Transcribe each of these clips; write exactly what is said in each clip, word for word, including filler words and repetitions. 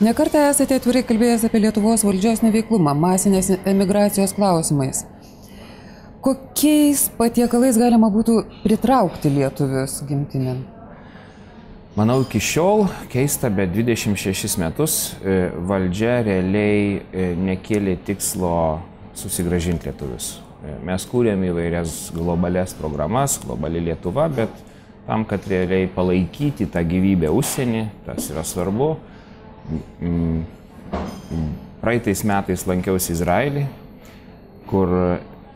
Nekartą esate atvirai kalbėjęs apie Lietuvos valdžios neveiklumą, masinės emigracijos klausimais. Kokiais patiekalais galima būtų pritraukti lietuvius gimtinėn? Manau, iki šiol keista, bet dvidešimt šešis metus valdžia realiai nekėlė tikslo susigrąžinti lietuvius. Mes kūrėm įvairias globalias programas, globali Lietuva, bet tam, kad realiai palaikyti tą gyvybę užsienį, tas yra svarbu. Praeitais metais lankiausi Izraelį, kur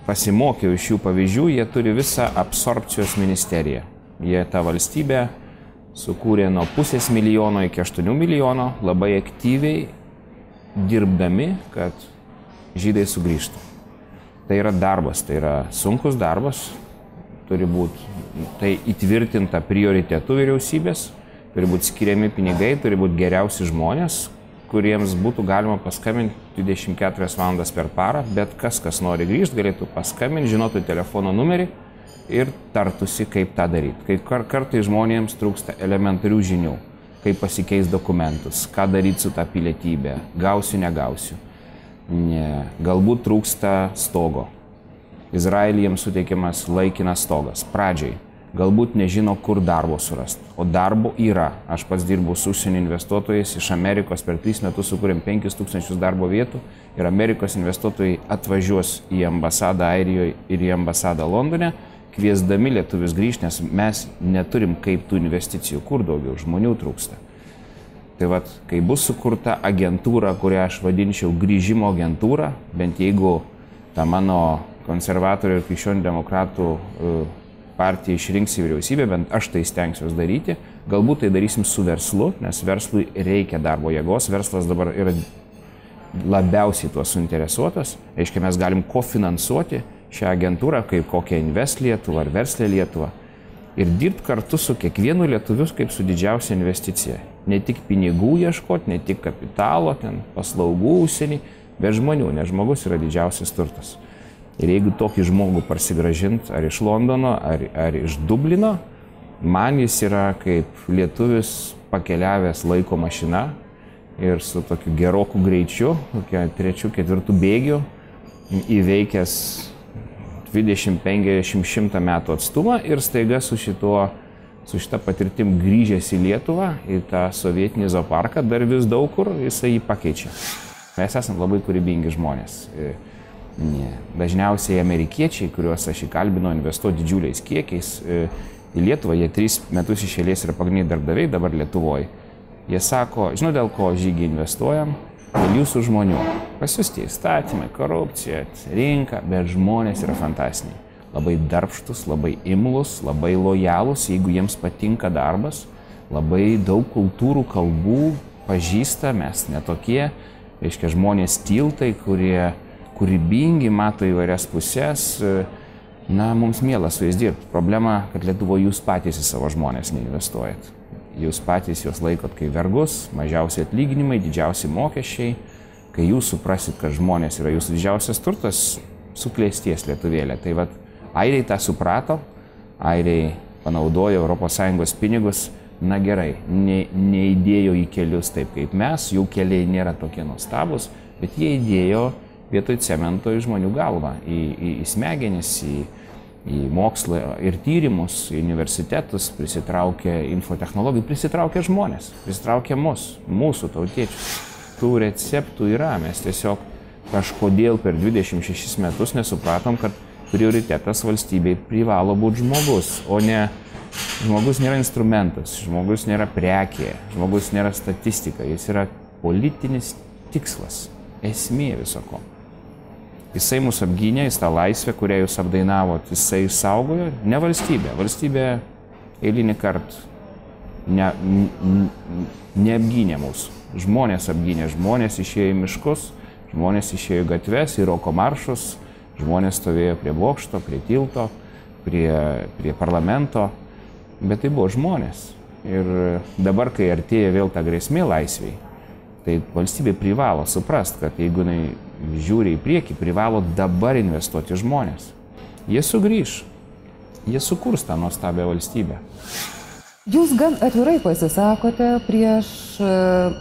pasimokiau iš jų pavyzdžių, jie turi visą absorpcijos ministeriją. Jie tą valstybę sukūrė nuo pusės milijono iki aštuonių milijono, labai aktyviai dirbdami, kad žydai sugrįžtų. Tai yra darbas, tai yra sunkus darbas, turi būti tai įtvirtinta prioritetų vyriausybės, turi būti skiriami pinigai, turi būti geriausi žmonės, kuriems būtų galima paskambinti dvidešimt keturias valandas per parą, bet kas, kas nori grįžti, galėtų paskambinti, žinotų telefono numerį ir tartusi, kaip tą daryti. Kai kar kartai žmonėms trūksta elementarių žinių, kaip pasikeis dokumentus, ką daryti su tą pilietybę, gausiu, negausiu. Ne, galbūt trūksta stogo. Izraelyje jiems suteikiamas laikinas stogas pradžiai. Galbūt nežino, kur darbo surasti. O darbo yra. Aš pats dirbu su užsienio investuotojais iš Amerikos, per tris metus sukūrėm penkis tūkstančius darbo vietų ir Amerikos investuotojai atvažiuos į ambasadą Airijoje ir į ambasadą Londone, kviesdami lietuvius grįžti, nes mes neturim kaip tų investicijų, kur daugiau žmonių trūksta. Tai vat, kai bus sukurta agentūra, kurią aš vadinčiau grįžimo agentūra, bent jeigu ta mano konservatorių ir krikščionių demokratų partija išrinks į vyriausybę, bent aš tai stengsiuos daryti, galbūt tai darysim su verslu, nes verslui reikia darbo jėgos, verslas dabar yra labiausiai tuo suinteresuotas, reiškia mes galim kofinansuoti šią agentūrą kaip kokią Invest Lietuvą ar Verslė Lietuvą ir dirbti kartu su kiekvienu lietuviu kaip su didžiausia investicija. Ne tik pinigų ieškoti, ne tik kapitalo, ten paslaugų užsienį, bet žmonių, nes žmogus yra didžiausias turtas. Ir jeigu tokį žmogų parsigrąžint ar iš Londono, ar, ar iš Dublino, man jis yra kaip lietuvis pakeliavęs laiko mašina ir su tokiu geroku greičiu, kokiu trečiu, ketvirtų bėgiu, įveikęs dvidešimt, penkiasdešimt, šimtą metų atstumą ir staiga su, šituo, su šita patirtim grįžęs į Lietuvą, į tą sovietinį zooparką, dar vis daug kur jisai jį pakeičia. Mes esame labai kūrybingi žmonės. Ne. Dažniausiai amerikiečiai, kuriuos aš įkalbinau investuoti didžiuliais kiekiais į Lietuvą, jie tris metus iš eilės yra pagrindiniai darbdaviai dabar Lietuvoje. Jie sako, žinau, dėl ko žygį investuojam, dėl jūsų žmonių. Pas jūs tie įstatymai, korupcija, rinka, bet žmonės yra fantastiniai. Labai darbštus, labai imlus, labai lojalus, jeigu jiems patinka darbas, labai daug kultūrų, kalbų pažįsta, mes netokie, reiškia žmonės tiltai, kurie kūrybingi, mato įvairias pusės, na, mums miela su jais dirbti. Problema, kad Lietuvoje jūs patys į savo žmonės neinvestuojat. Jūs patys juos laikot kaip vergus, mažiausi atlyginimai, didžiausi mokesčiai. Kai jūs suprasit, kad žmonės yra jūsų didžiausias turtas, suklėsties lietuvėlė. Tai vat, airiai tą suprato, airiai panaudojo Europos Sąjungos pinigus, na gerai, ne, neįdėjo į kelius taip kaip mes, jų keliai nėra tokie nuostabus, bet jie įdėjo vietoj cemento į žmonių galvą, į, į, į smegenis, į, į mokslą ir tyrimus, į universitetus, prisitraukė infotechnologijų, prisitraukė žmonės, prisitraukė mus, mūsų tautiečius. Tų receptų yra, mes tiesiog kažkodėl per dvidešimt šešis metus nesupratom, kad prioritetas valstybei privalo būti žmogus, o ne žmogus nėra instrumentas, žmogus nėra prekė, žmogus nėra statistika, jis yra politinis tikslas, esmė visoko. Jisai mus apgynė, jis tą laisvę, kurią jūs apdainavot, jisai išsaugojo, ne valstybė. Valstybė eilinį kartą ne, ne, neapgynė mūsų. Žmonės apgynė, žmonės išėjo į miškus, žmonės išėjo į gatves, į roko maršus, žmonės stovėjo prie bokšto, prie tilto, prie, prie parlamento, bet tai buvo žmonės. Ir dabar, kai artėja vėl ta grėsmė laisviai, tai valstybė privalo suprast, kad jeigu jinai žiūri į priekį, privalo dabar investuoti žmonės. Jie sugrįš, jie sukurs tą nuostabią valstybę. Jūs gan atvirai pasisakote prieš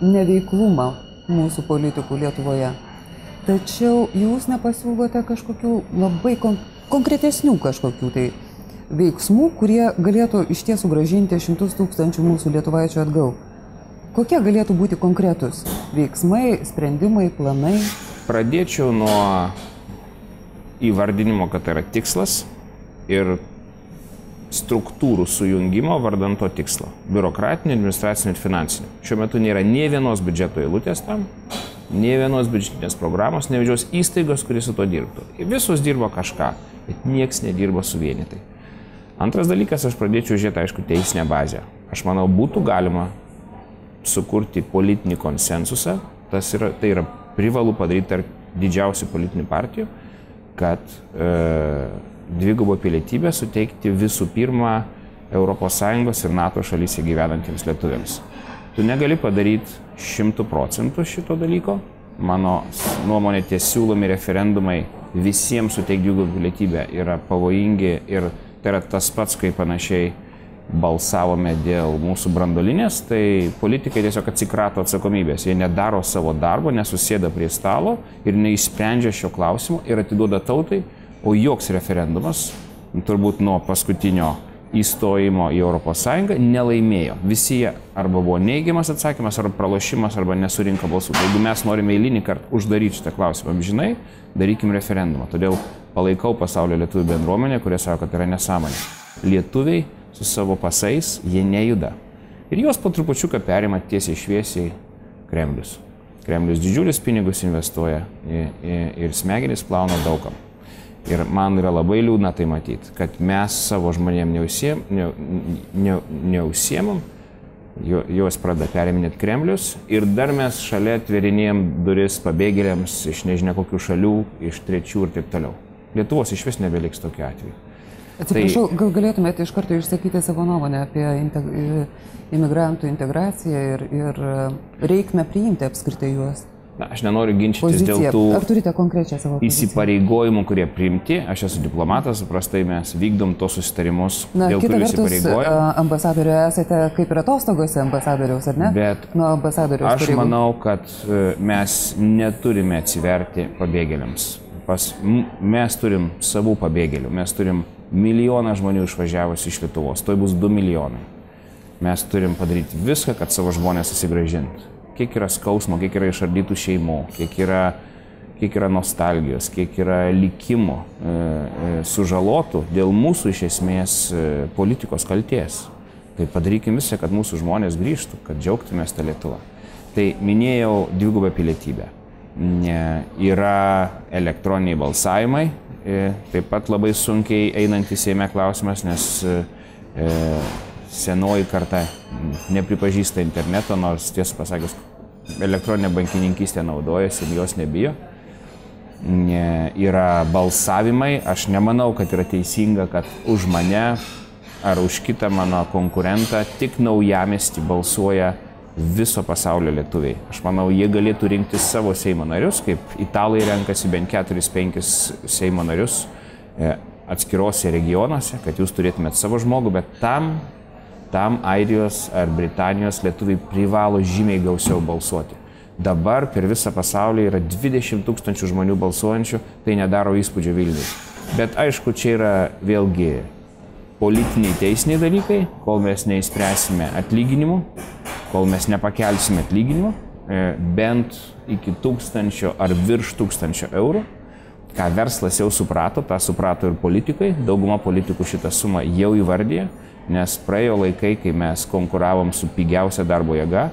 neveiklumą mūsų politikų Lietuvoje. Tačiau jūs nepasiūlote kažkokių labai kon konkretesnių kažkokių tai veiksmų, kurie galėtų iš tiesų grąžinti šimtus tūkstančių mūsų lietuvaičių atgal. Kokie galėtų būti konkretus veiksmai, sprendimai, planai? Pradėčiau nuo įvardinimo, kad tai yra tikslas ir struktūrų sujungimo vardant to tikslo. Biurokratinio, administracinio ir finansinio. Šiuo metu nėra nė vienos biudžeto eilutės tam, nė vienos biudžetinės programos, nė vienos įstaigos, kuris su to dirbtų. Visos dirbo kažką, bet nieks nedirbo suvienytai. Antras dalykas, aš pradėčiau žiūrėti, aišku, teisinę bazę. Aš manau, būtų galima sukurti politinį konsensusą, tas yra, tai yra privalu padaryti tarp didžiausių politinių partijų, kad e, dvigubą pilietybę suteikti visų pirma Europos Sąjungos ir NATO šalyse gyvenantiems lietuviams. Tu negali padaryti šimtų procentų šito dalyko. Mano nuomonė, tie siūlomi referendumai visiems suteikti dvigubą pilietybę yra pavojingi ir tai yra tas pats, kai panašiai balsavome dėl mūsų branduolinės, tai politikai tiesiog atsikrato atsakomybės. Jie nedaro savo darbo, nesusėda prie stalo ir neišsprendžia šio klausimo ir atiduoda tautai. O joks referendumas, turbūt nuo paskutinio įstojimo į Europos Sąjungą, nelaimėjo. Visi jie arba buvo neigiamas atsakymas, arba pralošimas, arba nesurinko balsų. Tai jeigu mes norime eilinį kartą uždaryti šitą klausimą, žinai, darykim referendumą. Todėl palaikau pasaulio lietuvių bendruomenę, kurie sako, kad tai yra nesąmonė. Lietuviai su savo pasais, jie nejuda. Ir juos po trupučiuką perima tiesiai šviesiai Kremlius. Kremlius didžiulis pinigus investuoja ir smegenis plauna daugam. Ir man yra labai liūdna tai matyti, kad mes savo žmonėm neusiemam, ne, ne, neusiemam, juos pradeda periminėti Kremlius ir dar mes šalia atverinėjom duris pabėgėliams iš nežinia kokių šalių, iš trečių ir taip toliau. Lietuvos iš vis nebeliks tokiu atveju. Atsiprašau, tai... gal galėtumėte iš karto išsakyti savo nuomonę apie integ... imigrantų integraciją ir, ir reikmę priimti apskritai juos? Na, aš nenoriu ginčytis dėl tų įsipareigojimų, kurie priimti. Aš esu diplomatas, paprastai mes vykdom tos susitarimus, Na, dėl kurių įsipareigojimų. Kita vertus, ambasadoriu esate kaip ir atostogose ambasadoriaus, ar ne? Bet Nuo ambasadoriaus aš pareigų. manau, kad mes neturime atsiverti pabėgėliams. Pas, mes turim savų pabėgėlių, mes turim milijoną žmonių išvažiavusi iš Lietuvos, tai bus du milijonai. Mes turim padaryti viską, kad savo žmonės susigrąžintų. Kiek yra skausmo, kiek yra išardytų šeimų, kiek yra, kiek yra nostalgijos, kiek yra likimų e, e, sužalotų dėl mūsų iš esmės e, politikos kalties. Tai padarykim visą, kad mūsų žmonės grįžtų, kad džiaugtumės tą Lietuvą. Tai minėjau dvigubą pilietybę. Ne, yra elektroniniai balsavimai, e, taip pat labai sunkiai einantys Seime klausimas, nes e, senoji karta nepripažįsta interneto, nors tiesą pasakius, elektroninė bankininkystė naudojasi ir jos nebijo. Yra balsavimai, aš nemanau, kad yra teisinga, kad už mane ar už kitą mano konkurentą tik naujamiestį balsuoja viso pasaulio lietuviai. Aš manau, jie galėtų rinkti savo Seimo narius, kaip italai renkasi bent keturis penkis Seimo narius atskirose regionuose, kad jūs turėtumėt savo žmogų, bet tam Tam Airijos ar Britanijos lietuviai privalo žymiai gausiau balsuoti. Dabar per visą pasaulį yra dvidešimt tūkstančių žmonių balsuojančių, tai nedaro įspūdžio Vilniui. Bet aišku, čia yra vėlgi politiniai teisiniai dalykai, kol mes neįspręsime atlyginimų, kol mes nepakelsime atlyginimų, bent iki tūkstančio ar virš tūkstančio eurų, ką verslas jau suprato, tą suprato ir politikai, dauguma politikų šitą sumą jau įvardyja, nes praėjo laikai, kai mes konkuravom su pigiausia darbo jėga,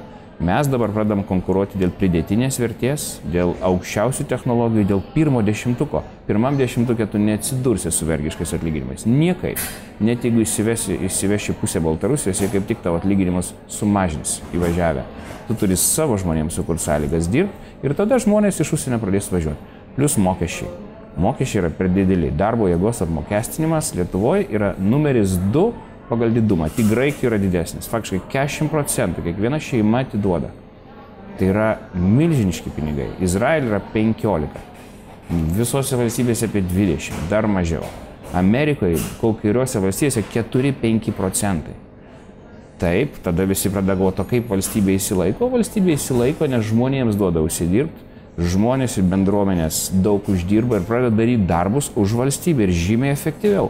mes dabar pradam konkuruoti dėl pridėtinės vertės, dėl aukščiausių technologijų, dėl pirmo dešimtuko. Pirmam dešimtukė tu neatsidursi su vergiškais atlyginimais. Niekaip. Net jeigu įsiveši, įsiveši pusę Baltarusijos, jie kaip tik tavo atlyginimus sumažins įvažiavę. Tu turi savo žmonėms sukurti sąlygas dirbti ir tada žmonės iš užsienio pradės važiuoti. Plius mokesčiai. Mokesčiai yra per dideli. Darbo jėgos apmokestinimas Lietuvoje yra numeris du pagal didumą. Tik Graikijoje yra didesnis. Faktiškai keturiasdešimt procentų kiekviena šeima atiduoda. Tai yra milžiniški pinigai. Izraelį yra penkiolika. Visose valstybėse apie dvidešimt, dar mažiau. Amerikoje, kai kuriuose valstybėse keturi penki procentai. Taip, tada visi pradeda galvoti, kaip valstybė įsilaiko. Valstybė įsilaiko, nes žmonėms duoda užsidirbti. Žmonės ir bendruomenės daug uždirba ir pradeda daryti darbus už valstybę ir žymiai efektyviau.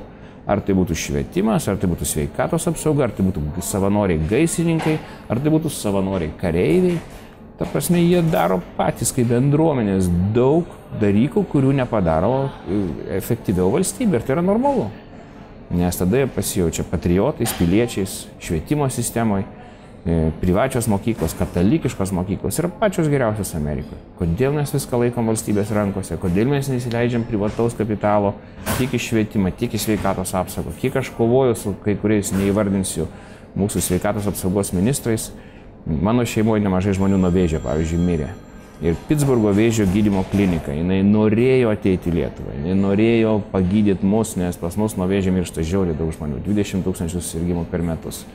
Ar tai būtų švietimas, ar tai būtų sveikatos apsauga, ar tai būtų savanoriai gaisrininkai, ar tai būtų savanoriai kareiviai. Ta prasme, jie daro patys kaip bendruomenės daug dalykų, kurių nepadaro efektyviau valstybė. Ir tai yra normalu. Nes tada jie pasijaučia patriotais, piliečiais, švietimo sistemoje. Privačios mokyklos, katalikiškos mokyklos yra pačios geriausios Amerikoje. Kodėl mes viską laikom valstybės rankose, kodėl mes neįsileidžiam privataus kapitalo tiek į švietimą, tiek į sveikatos apsaugą. Kiek aš kovoju su kai kuriais, neįvardinsiu, mūsų sveikatos apsaugos ministrais, mano šeimoje nemažai žmonių nuo vėžio, pavyzdžiui, mirė. Ir Pittsburgo vėžio gydymo klinika, jinai norėjo ateiti į Lietuvą, jinai norėjo pagydyti mus, nes pas mus nuo vėžio miršta žiauriai daug žmonių, dvidešimt tūkstančių susirgimų per metus.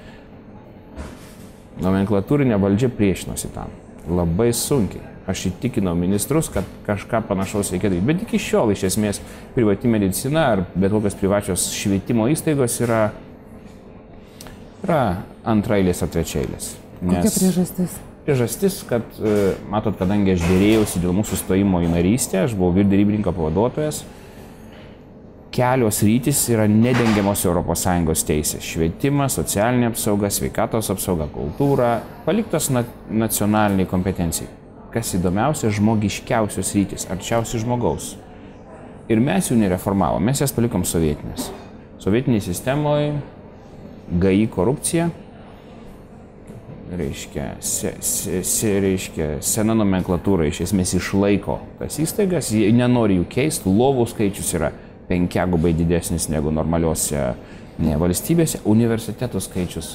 Nomenklatūrinė valdžia priešinosi tam. Labai sunkiai. Aš įtikinau ministrus, kad kažką panašaus reikia daryti. Bet iki šiol, iš esmės, privati medicina ar bet kokios privačios švietimo įstaigos yra, yra antraeilės ar trečiaeilės. Kokia priežastis? Priežastis, kad, matot, kadangi aš dėrėjausi dėl mūsų stojimo į narystę, aš buvau vyriausybininko pavaduotojas, kelios rytis yra nedengiamos Europos Sąjungos teisės. Švietimas, socialinė apsauga, sveikatos apsauga, kultūra, paliktos na nacionaliniai kompetencijai. Kas įdomiausia, žmogiškiausios rytis, arčiausiai žmogaus. Ir mes jų nereformavom, mes jas palikom sovietinės. Sovietiniai sistemoje G I korupcija, reiškia, se, se, se, reiškia, sena nomenklatūra iš esmės išlaiko tas įstaigas, jie nenori jų keisti, lovų skaičius yra penkiagubai didesnis negu normaliuose ne, valstybėse, universitetų skaičius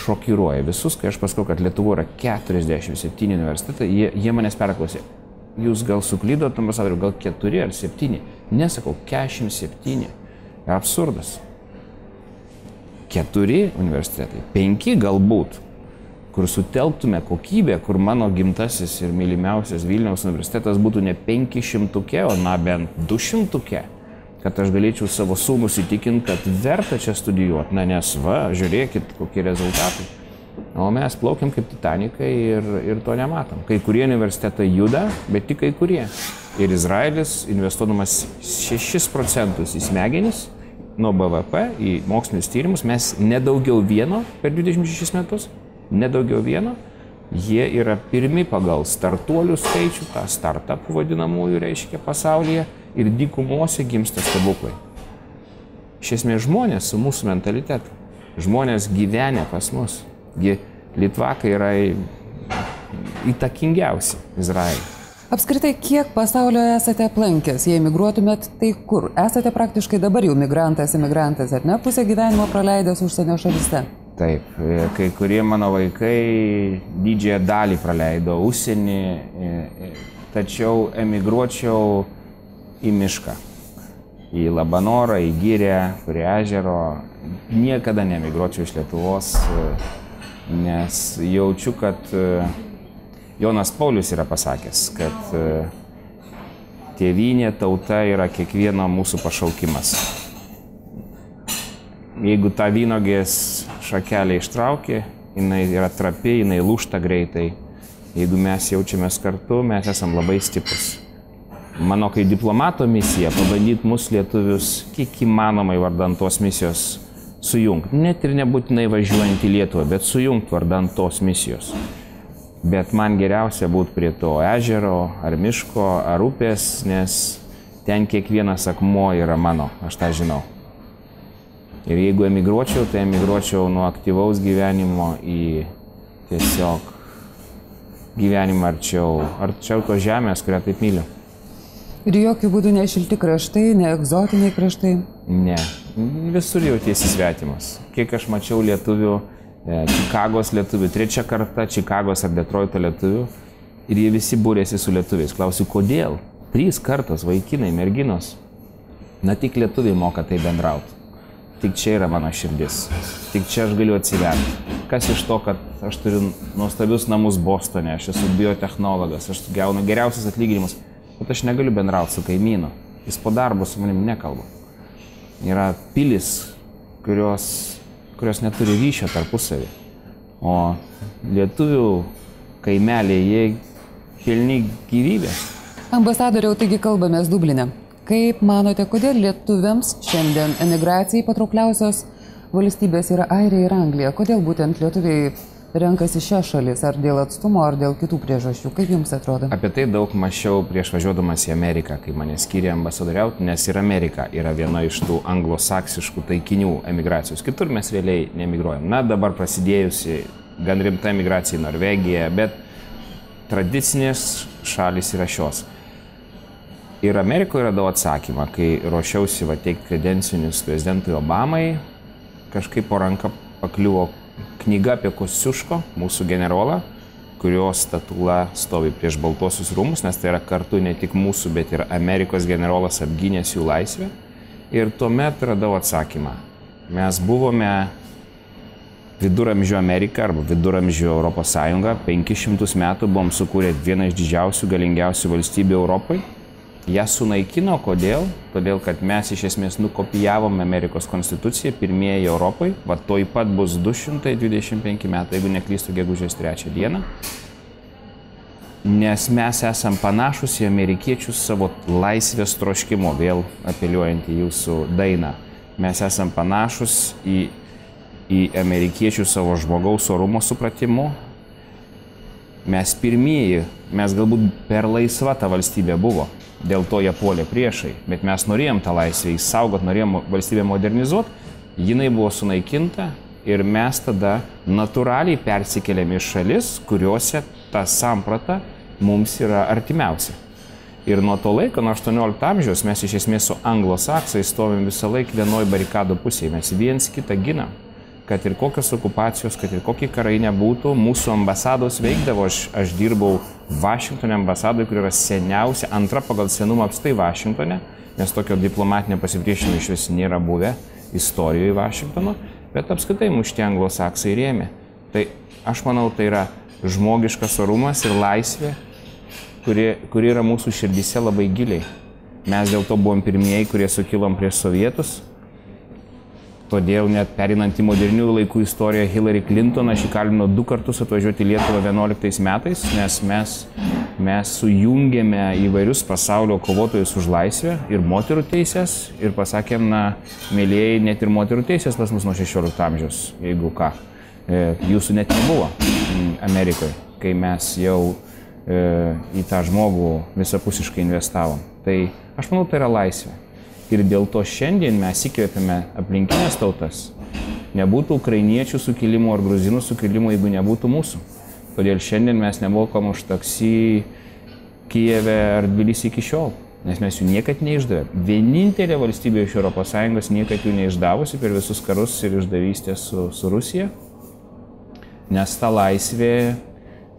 šokiruoja visus, kai aš pasakau, kad Lietuvoje yra keturiasdešimt septyni universitetai, jie, jie manęs perklausė, jūs gal suklydot, ambasadoriu, gal keturi ar septyni, nesakau, keturiasdešimt septyni, absurdas. Keturi universitetai, penki galbūt, kur sutelktume kokybę, kur mano gimtasis ir mylimiausias Vilniaus universitetas būtų ne penki šimtuke, o na bent du šimtuke. Kad aš galėčiau savo sūnus įtikinti, kad verta čia studijuoti, na nes va, žiūrėkit, kokie rezultatai. O mes plaukiam kaip Titanikai ir, ir to nematom. Kai kurie universitetai juda, bet tik kai kurie. Ir Izraelis investuodamas šešis procentus į smegenis nuo B V P, į mokslinius tyrimus, mes nedaugiau vieno per dvidešimt šešis metus, nedaugiau vieno, jie yra pirmi pagal startuolių skaičių, tą startupų vadinamųjų reiškia pasaulyje. Ir dykumose gimsta stebuklai. Iš esmės žmonės su mūsų mentalitetu. Žmonės gyvenę pas mus. Litvakai yra įtakingiausi Izraelį. Apskritai, kiek pasaulio esate aplankęs? Jei migruotumėt, tai kur? Esate praktiškai dabar jau migrantas, emigrantas, ar ne? Pusę gyvenimo praleidęs užsienio šalyse. Taip, kai kurie mano vaikai didžiąją dalį praleido užsienį, tačiau emigruočiau į mišką, į Labanorą, į Girią, prie ežero. Niekada nemigruočiau iš Lietuvos, nes jaučiu, kad Jonas Paulius yra pasakęs, kad tėvynė, tauta yra kiekvieno mūsų pašaukimas. Jeigu tą vynogės šakelę ištraukė, jinai yra trapi, jinai lūžta greitai. Jeigu mes jaučiamės kartu, mes esam labai stiprus. Mano kaip diplomato misija pabandyti mus lietuvius kiek įmanomai vardant tos misijos sujungti. Net ir nebūtinai važiuojant į Lietuvą, bet sujungti vardant tos misijos. Bet man geriausia būti prie to ežero, ar miško, ar upės, nes ten kiekvienas akmuo yra mano, aš tą žinau. Ir jeigu emigruočiau, tai emigruočiau nuo aktyvaus gyvenimo į tiesiog gyvenimą arčiau, arčiau to žemės, kurią taip myliu. Ir jokių būdų ne šilti kraštai, ne egzotiniai kraštai? Ne, visur jautiesi svetimas. Kiek aš mačiau lietuvių, Čikagos lietuvių, trečia karta Čikagos ar Detroito lietuvių, ir jie visi būrėsi su lietuviais. Klausiu, kodėl? Trys kartos vaikinai, merginos. Na tik lietuviai moka tai bendrauti. Tik čia yra mano širdis. Tik čia aš galiu atsiverti. Kas iš to, kad aš turiu nuostabius namus Bostone, aš esu biotechnologas, aš gaunu geriausius atlyginimus, bet aš negaliu bendrauti su kaimynu. Jis po darbo su manim nekalba. Yra pilis, kurios, kurios neturi ryšio tarpusavį. O lietuvių kaimelė, jie pilni gyvybės. Ambasadoriau, taigi kalbamės Dubline. Kaip manote, kodėl lietuviams šiandien emigracijai patraukliausios valstybės yra Airija ir Anglija? Kodėl būtent lietuviai renkasi šias šalis? Ar dėl atstumo, ar dėl kitų priežasčių? Kaip jums atrodo? Apie tai daug mąsčiau prieš važiuodamas į Ameriką, kai mane skyrė ambasadoriauti, nes ir Amerika yra viena iš tų anglosaksiškų taikinių emigracijos. Kitur mes realiai neemigruojam. Na, dabar prasidėjusi gan rimta emigracija į Norvegiją, bet tradicinės šalis yra šios. Ir Amerikoje radau atsakymą, kai ruošiausi va teikti kredencinius prezidentui Obamai, kažkaip po ranka pakliuvo knyga apie Kosciuško, mūsų generolą, kurios statula stovi prieš Baltuosius rūmus, nes tai yra kartu ne tik mūsų, bet ir Amerikos generolas apgynęs jų laisvę. Ir tuomet radau atsakymą. Mes buvome viduramžių Amerika arba viduramžių Europos Sąjunga, penkis šimtus metų buvom sukūrę vieną iš didžiausių, galingiausių valstybių Europai. Ją sunaikino, kodėl? Todėl, kad mes iš esmės nukopijavome Amerikos konstituciją, pirmieji Europai, va toj pat bus du šimtai dvidešimt penki metai, jeigu neklystu, gegužės trečią dieną. Nes mes esam panašus į amerikiečius savo laisvės troškimo, vėl apeliuojant į jūsų dainą. Mes esam panašus į, į amerikiečių savo žmogaus orumo supratimu. Mes pirmieji, mes galbūt per laisva ta valstybė buvo. Dėl to jie puolė priešai, bet mes norėjom tą laisvę įsaugot, norėjom valstybę modernizuoti, jinai buvo sunaikinta ir mes tada natūraliai persikėlėm į šalis, kuriuose ta samprata mums yra artimiausia. Ir nuo to laiko, nuo aštuoniolikto amžiaus, mes iš esmės su anglosaksais stovim visą laiką vienoj barikadų pusėje, mes viens kitą ginam. Kad ir kokios okupacijos, kad ir kokie karai nebūtų, mūsų ambasados veikdavo. Aš, aš dirbau Vašingtone ambasadoje, kur yra seniausia, antra pagal senumą apstai Vašingtone, nes tokio diplomatinio pasipriešinimo iš vis nėra buvę istorijoje Vašingtono, bet apskritai mušti anglosaksai rėmė. Tai aš manau, tai yra žmogiškas orumas ir laisvė, kuri, kuri yra mūsų širdyse labai giliai. Mes dėl to buvom pirmieji, kurie sukilom prieš sovietus. Todėl net perinant į modernių laikų istoriją Hillary Clinton aš įkalbinau du kartus atvažiuoti į Lietuvą vienuoliktais metais, nes mes, mes sujungėme įvairius pasaulio kovotojus už laisvę ir moterų teisės ir pasakėm, na, mėlyjei, net ir moterų teisės pas mus nuo šešiolikto amžiaus, jeigu ką. Jūsų net nebuvo Amerikoje, kai mes jau e, į tą žmogų visapusiškai investavom. Tai aš manau, tai yra laisvė. Ir dėl to šiandien mes įkvėpėme aplinkinės tautas. Nebūtų ukrainiečių sukilimų ar gruzinų sukilimų, jeigu nebūtų mūsų. Todėl šiandien mes nemokam už taksi Kijeve ar Tbilisy iki šiol, nes mes jų niekad neišdavėm. Vienintelė valstybė iš Europos Sąjungos niekad jų neišdavusi per visus karus ir išdavystę su, su Rusija, nes ta laisvė,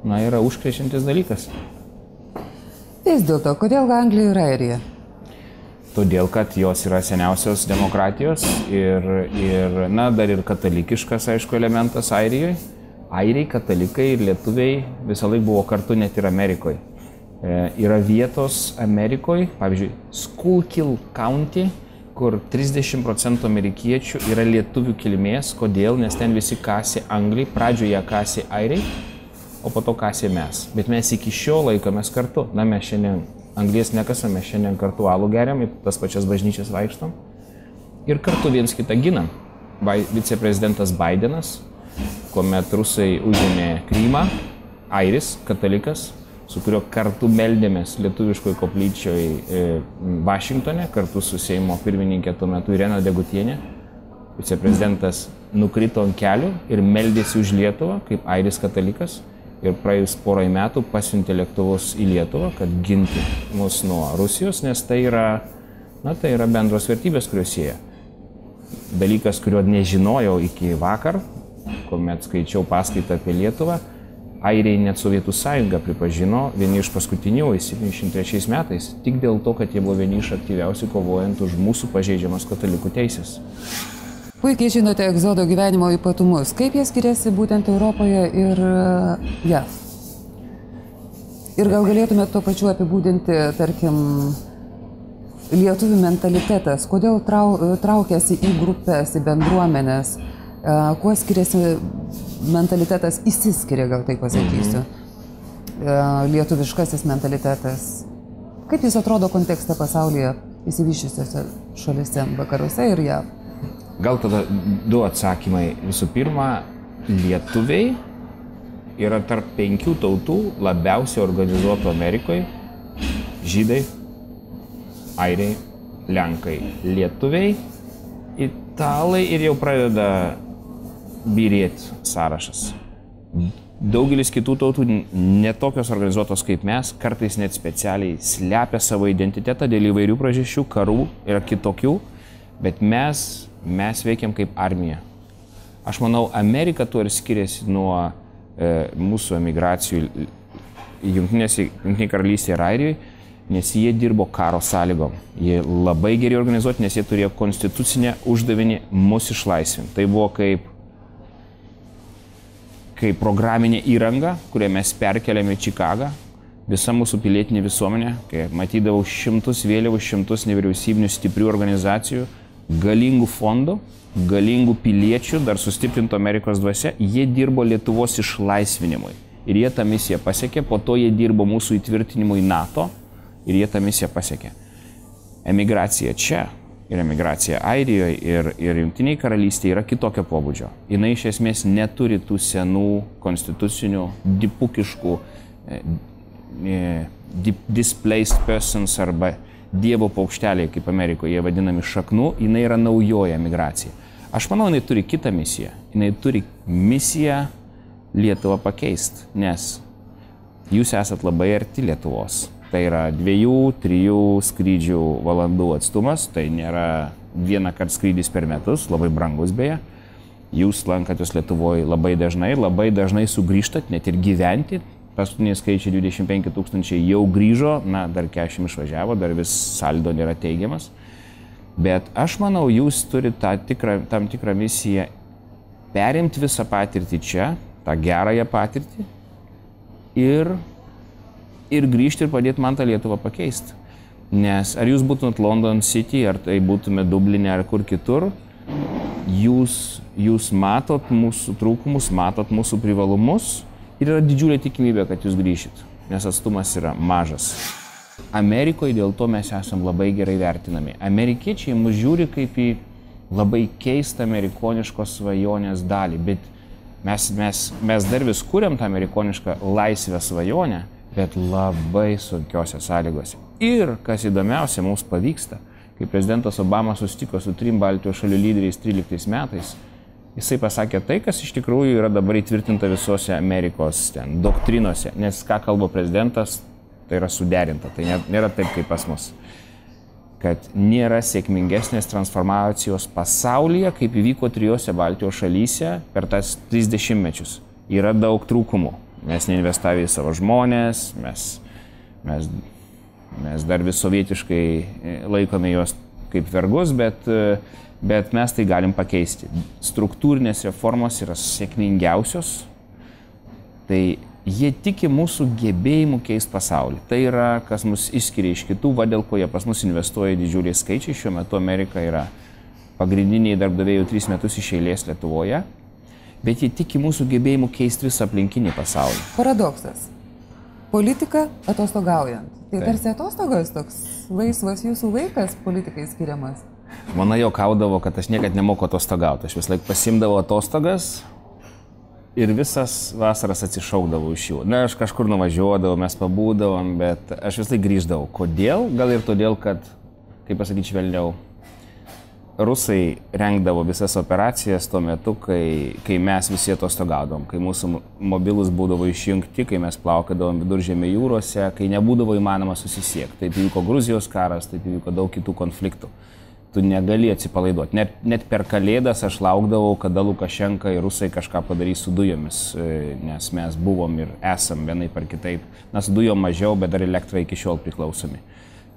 na, yra užkrečiantis dalykas. Vis dėlto, kodėl Anglija ir Airija? Todėl, kad jos yra seniausios demokratijos ir, ir na, dar ir katalikiškas, aišku, elementas Airijoje. Airiai, katalikai ir lietuviai visą laiką buvo kartu net ir Amerikoje. E, yra vietos Amerikoje, pavyzdžiui, Schuylkill County, kur trisdešimt procentų amerikiečių yra lietuvių kilmės. Kodėl? Nes ten visi kasė Angliai, pradžioje kasė Airiai, o po to kasė mes. Bet mes iki šio laikomės kartu. Na, mes šiandien Anglies nekasame, šiandien kartu alų geriam, į tas pačias bažnyčias vaikštom ir kartu viens kitą ginam. Viceprezidentas Bidenas, kuomet rusai užėmė Krymą, airis, katalikas, su kuriuo kartu meldėmės lietuviškoje koplyčioje Vašingtone, kartu su Seimo pirmininkė tuo metu Irena Degutienė. Viceprezidentas nukrito ant kelių ir meldėsi už Lietuvą kaip airis katalikas. Ir praėjus porai metų pasiuntė lėktuvus į Lietuvą, kad ginti mus nuo Rusijos, nes tai yra, na, tai yra bendros vertybės, kurios sieja. Dalykas, kurio nežinojau iki vakar, kuomet skaičiau paskaitą apie Lietuvą, airiai net Sovietų sąjungą pripažino vieni iš paskutinių septyniasdešimt trečiais metais, tik dėl to, kad jie buvo vieni iš aktyviausių kovojant už mūsų pažeidžiamas katalikų teisės. Puikiai žinote egzodo gyvenimo ypatumus. Kaip jie skiriasi būtent Europoje ir j a v? Ir gal galėtumėte tuo pačiu apibūdinti, tarkim, lietuvių mentalitetas, kodėl trau, traukiasi į grupės, į bendruomenės, Kuo skiriasi mentalitetas, išsiskiria, gal taip pasakysiu, mm-hmm. lietuviškasis mentalitetas. Kaip jis atrodo kontekste pasaulyje įsivyščiusiose šalise, vakaruose ir jav? Gal tada du atsakymai. Visų pirma, lietuviai yra tarp penkių tautų labiausiai organizuotų Amerikoje. Žydai, airiai, lenkai, lietuviai, italai ir jau pradeda byrėti sąrašas. Daugelis kitų tautų netokios organizuotos kaip mes, kartais net specialiai slepia savo identitetą dėl įvairių priežasčių, karų ir kitokių, bet mes, mes veikiam kaip armija. Aš manau, Amerika tuo ir skiriasi nuo e, mūsų emigracijų Jungtinėje karalystėje ir Airijoje, nes jie dirbo karo sąlygom. Jie labai gerai organizuoti, nes jie turėjo konstitucinę uždavinį mus išlaisvinti. Tai buvo kaip, kaip programinė įranga, kurią mes perkeliame į Čikagą. Visa mūsų pilietinė visuomenė, kai matydavau šimtus vėliavų, šimtus nevyriausybinių stiprių organizacijų, galingų fondų, galingų piliečių, dar sustiprinto Amerikos dvasia, jie dirbo Lietuvos išlaisvinimui. Ir jie tą misiją pasiekė, po to jie dirbo mūsų įtvirtinimui NATO ir jie tą misiją pasiekė. Emigracija čia ir emigracija Airijoje ir, ir Jungtinėje karalystėje yra kitokio pobūdžio. Jis iš esmės neturi tų senų konstitucinių, dipukiškų, displaced persons arba dievo paukšteliai, kaip Amerikoje jie vadinami, šaknų, jinai yra naujoji emigracija. Aš manau, jinai turi kitą misiją. Jinai turi misiją Lietuvą pakeisti, nes jūs esat labai arti Lietuvos. Tai yra dviejų, trijų skrydžių valandų atstumas, tai nėra vieną kartą skrydis per metus, labai brangus beje. Jūs lankatės Lietuvoje labai dažnai, labai dažnai sugrįžtat, net ir gyventi. Paskutiniai skaičiai dvidešimt penki tūkstančiai jau grįžo, na, dar keturiasdešimt išvažiavo, dar vis saldo nėra teigiamas. Bet aš manau, jūs turite tą tikrą, tam tikrą misiją perimti visą patirtį čia, tą gerąją patirtį ir, ir grįžti ir padėti man tą Lietuvą pakeisti. Nes ar jūs būtumėt London City, ar tai būtumėt Dubline, ar kur kitur, jūs, jūs matot mūsų trūkumus, matot mūsų privalumus ir yra didžiulė tikimybė, kad jūs grįšit, nes atstumas yra mažas. Amerikoje dėl to mes esam labai gerai vertinami. Amerikiečiai mus žiūri kaip į labai keistą amerikoniškos svajonės dalį, bet mes, mes, mes dar vis kuriam tą amerikonišką laisvę svajonę, bet labai sunkiose sąlygose. Ir, kas įdomiausia, mums pavyksta, kai prezidentas Obama susitiko su trim Baltijos šalių lyderiais tryliktais metais, jisai pasakė tai, kas iš tikrųjų yra dabar įtvirtinta visose Amerikos ten, doktrinose, nes ką kalba prezidentas, tai yra suderinta, tai nėra taip kaip pas mus. Kad nėra sėkmingesnės transformacijos pasaulyje, kaip įvyko trijose Baltijos šalyse per tas tris dešimtmečius. Yra daug trūkumų. Mes neinvestavę į savo žmonės, mes, mes, mes dar vis sovietiškai laikome juos kaip vergus, bet, bet mes tai galim pakeisti. Struktūrinės reformos yra sėkmingiausios, tai jie tiki mūsų gebėjimu keisti pasaulį. Tai yra, kas mus išskiria iš kitų, va dėl ko jie pas mus investuoja didžiuliai skaičiai. Šiuo metu Amerika yra pagrindiniai darbdaviai jau tris metus iš eilės Lietuvoje, bet jie tiki mūsų gebėjimu keisti visą aplinkinį pasaulį. Paradoksas. Politika atostogaujant. Tai tarsi atostogas toks laisvas jūsų laikas politikai skiriamas. Mano juokaudavo, kad aš niekad nemoku atostogauti. Aš vis laik pasimdavau atostogas ir visas vasaras atsišaukdavau iš jų. Na, aš kažkur nuvažiuodavau, mes pabūdavom, bet aš vis laik grįždavau. Kodėl? Gal ir todėl, kad, kaip pasakyti švelniau, rusai rengdavo visas operacijas tuo metu, kai, kai mes visi atostogaudom, kai mūsų mobilus būdavo išjungti, kai mes plaukadavom Viduržemio jūrose, kai nebūdavo įmanoma susisiekti. Taip įvyko Gruzijos karas, taip įvyko daug kitų konfliktų. Tu negali atsipalaiduoti. Net, net per Kalėdas aš laukdavau, kada Lukašenka ir rusai kažką padarys su dujomis, nes mes buvom ir esam vienai par kitaip. Mes dujom mažiau, bet dar elektrą iki šiol priklausomi.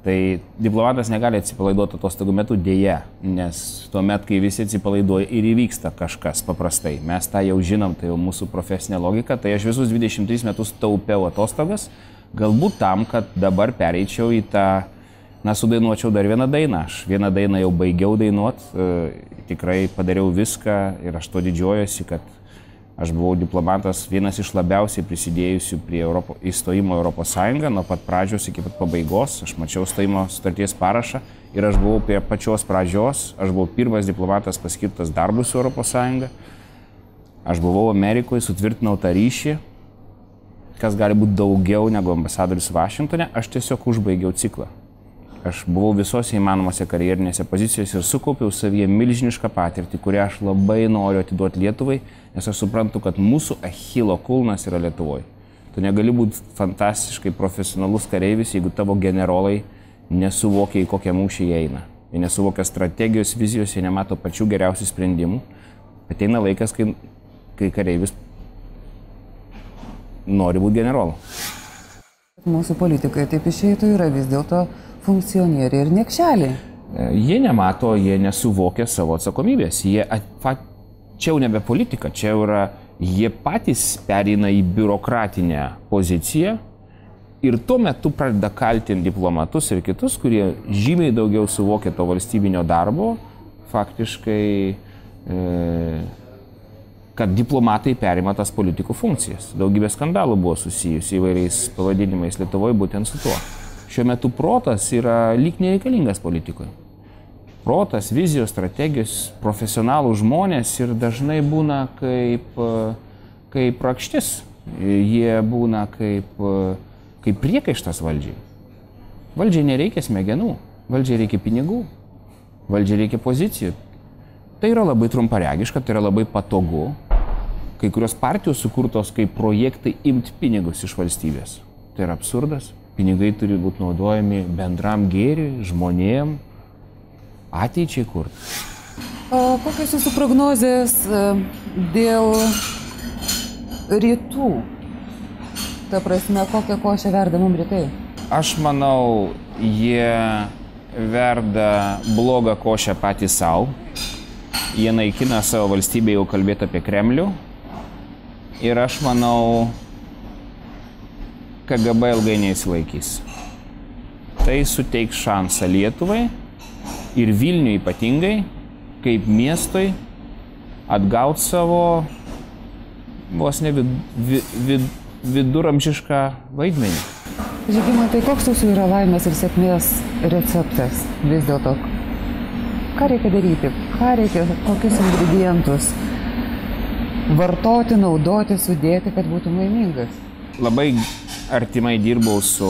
Tai diplomatas negali atsipalaiduoti atostogų metu dėja, nes tuomet, kai visi atsipalaiduoja ir įvyksta kažkas paprastai. Mes tą jau žinom, tai jau mūsų profesinė logika. Tai aš visus dvidešimt tris metus taupiau atostogas, galbūt tam, kad dabar pereičiau į tą Na, sudainuočiau dar vieną dainą. Aš vieną dainą jau baigiau dainuot, tikrai padariau viską ir aš to didžiuojuosi, kad aš buvau diplomatas vienas iš labiausiai prisidėjusių prie Europo, įstojimo Europos Sąjungą, nuo pat pradžios iki pat pabaigos. Aš mačiau stojimo sutarties parašą ir aš buvau prie pačios pradžios. Aš buvau pirmas diplomatas paskirtas darbui su Europos Sąjunga. Aš buvau Amerikoje, sutvirtinau tą ryšį, kas gali būti daugiau negu ambasadorius Vašingtone. Aš tiesiog užbaigiau ciklą. Aš buvau visose įmanomose karjerinėse pozicijose ir sukaupiau savyje milžinišką patirtį, kurią aš labai noriu atiduoti Lietuvai, nes aš suprantu, kad mūsų Achilo kulnas yra Lietuvoje. Tu negali būti fantastiškai profesionalus kareivis, jeigu tavo generolai nesuvokia, į kokią mūšį jie eina. Jie nesuvokia strategijos, vizijos, jie nemato pačių geriausių sprendimų. Ateina laikas, kai, kai kareivis nori būti generolu. Mūsų politikai taip išeitų yra vis dėlto funkcionieriai ir niekšeliai. Jie nemato, jie nesuvokia savo atsakomybės. Jie, čia jau nebe politika, čia yra, jie patys pereina į biurokratinę poziciją ir tuo metu pradeda kaltinti diplomatus ir kitus, kurie žymiai daugiau suvokia to valstybinio darbo, faktiškai, e, kad diplomatai perima tas politikų funkcijas. Daugybė skandalų buvo susijusi įvairiais pavadinimais Lietuvoje būtent su tuo. Šiuo metu protas yra lyg nereikalingas politikoje. Protas, vizijos, strategijos, profesionalų žmonės ir dažnai būna kaip, kaip rakštis. Jie būna kaip, kaip priekaištas valdžiai. Valdžiai nereikia smegenų, valdžiai reikia pinigų, valdžiai reikia pozicijų. Tai yra labai trumparegiška, tai yra labai patogu. Kai kurios partijos sukurtos kaip projektai imti pinigus iš valstybės. Tai yra absurdas. Pinigai turi būti naudojami bendram gėriui, žmonėm, ateičiai kurti. O kokios jūsų prognozės dėl rytų? Ta prasme, kokią košę verda mums rytai? Aš manau, jie verda blogą košę patys savo. Jie naikina savo valstybę, jau kalbėti apie Kremlių. Ir aš manau, K G B ilgai neįsilaikys. Tai suteiks šansą Lietuvai ir Vilniui ypatingai, kaip miestui, atgauti savo vos ne vid, vid, vid, viduramžišką vaidmenį. Žygimantai, koks jūsų yra laimės ir sėkmės receptas vis dėlto? Ką reikia daryti? Ką reikia, kokius ingredientus vartoti, naudoti, sudėti, kad būtum laimingas? Labai artimai dirbau su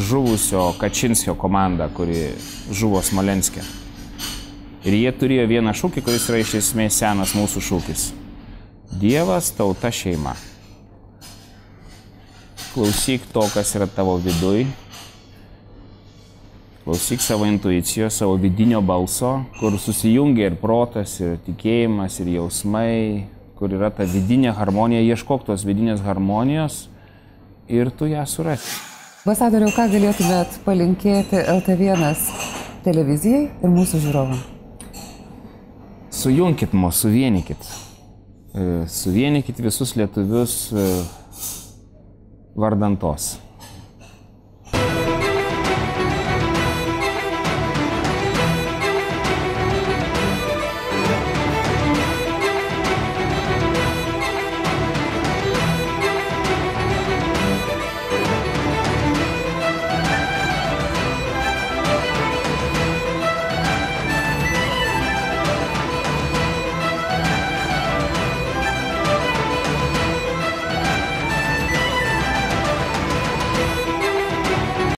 žuvusio Kačinskio komanda, kuri žuvo Smolenske. Ir jie turėjo vieną šūkį, kuris yra iš esmės senas mūsų šūkis. Dievas, tauta, šeima. Klausyk to, kas yra tavo viduj. Klausyk savo intuicijos, savo vidinio balso, kur susijungia ir protas, ir tikėjimas, ir jausmai, kur yra ta vidinė harmonija. Ieškok tos vidinės harmonijos ir tu ją surasi. Ambasadoriau, ką galėtumėt palinkėti L T vienas televizijai ir mūsų žiūrovam? Sujunkit mus, suvienykit. Suvienykit visus lietuvius vardan tos.